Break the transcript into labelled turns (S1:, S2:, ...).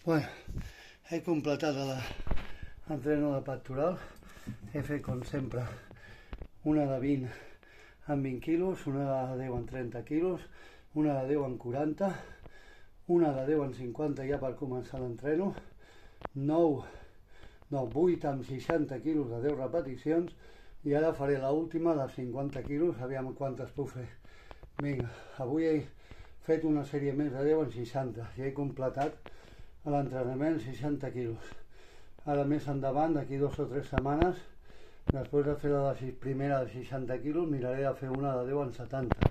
S1: Bueno, he completat l'entreno de pectoral. He fet, com sempre, una de 20 amb 20 quilos, una de 10 amb 30 quilos, una de 10 amb 40, una de 10 amb 50 ja per començar l'entreno, 8 amb 60 quilos de 10 repeticions, i ara faré l'última de 50 quilos, aviam quantes puc fer. Vinga, avui he fet una sèrie més de 10 amb 60 i he completat l'entrenament 60 quilos. Ara més endavant, d'aquí 2 o 3 setmanes, després de fer la primera de 60 quilos, miraré de fer una de 10 amb 70.